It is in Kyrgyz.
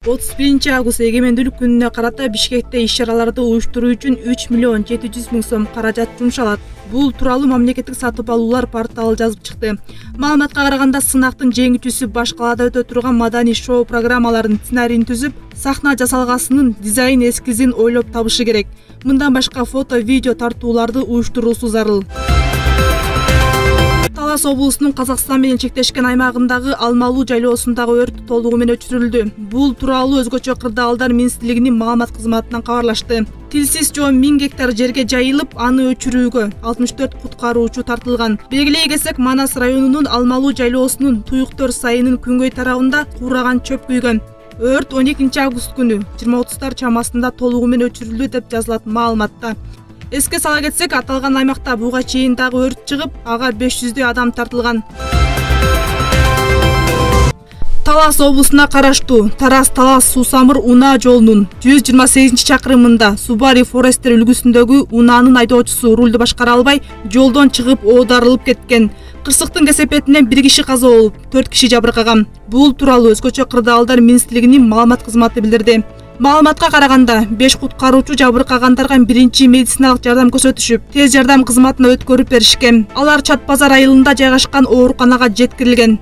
31-август эгемендүүлүк күнүнө карата Бишкекте иш-чараларды уюштуруу үчүн 3 миллион 700 миң сом каражат жумшалат. Бул тууралуу мамлекеттик сатып алуулар порталы жазып чыкты. Маалыматка караганда, сынактын жеңүүчүсү баш калаада өтө турган маданий шоу программаларынын сценарийин түзүп, сахна жасалгасынын дизайн эскизин ойлоп табышы керек. Мындан башка фото, видео тартууларды уюштуруусу зарыл. Талас облусунун Казакстан менен чектешкен аймагындагы Алмалуу жайлоосундагы өрт толугу менен өчүрүлдү. Бул тууралуу өзгөчө кырдаалдар министрлигинин маалымат кызматынан кабарлашты. Тилсиз жоо 1000 гектар жерге жайылып, аны өчүрүүгө 64 куткаруучу тартылган. Белгилей кетсек, Манас районунун Алмалуу жайлоосунун Туюктөр сайынын күнгөй тарабында куураган чөп күйгөн. Өрт 12-август күнү 20:30 чамасында толугу менен өчүрүлдү деп жазылат маалыматта. Эске сала кетсек, аталган аймакта буга чейин дагы өрт чыгып, ага 500 адам тартылган. Талас облусуна караштуу Тарас-Талас Суу-Самыр унаа жолунун 128-чакырымында Subaru Forester үлгүсүндөгү унаанын айдоочусу рулду башкара албай, жолдон чыгып оодарылып кеткен. Кырсыктын кесепетинен 1 киши каза болуп, 4 киши жабыркаган. Бул тууралуу өзгөчө кырдаалдар министрлигинин маалымат кызматы билдирди. Маалыматка караганда, 5 куткаруучу жабыркагандарга биринчи медициналык жардам көрсөтүшүп, тез жардам кызматына өткөрүп беришкен. Алар Чат базар айылында жайгашкан ооруканага жеткирилген.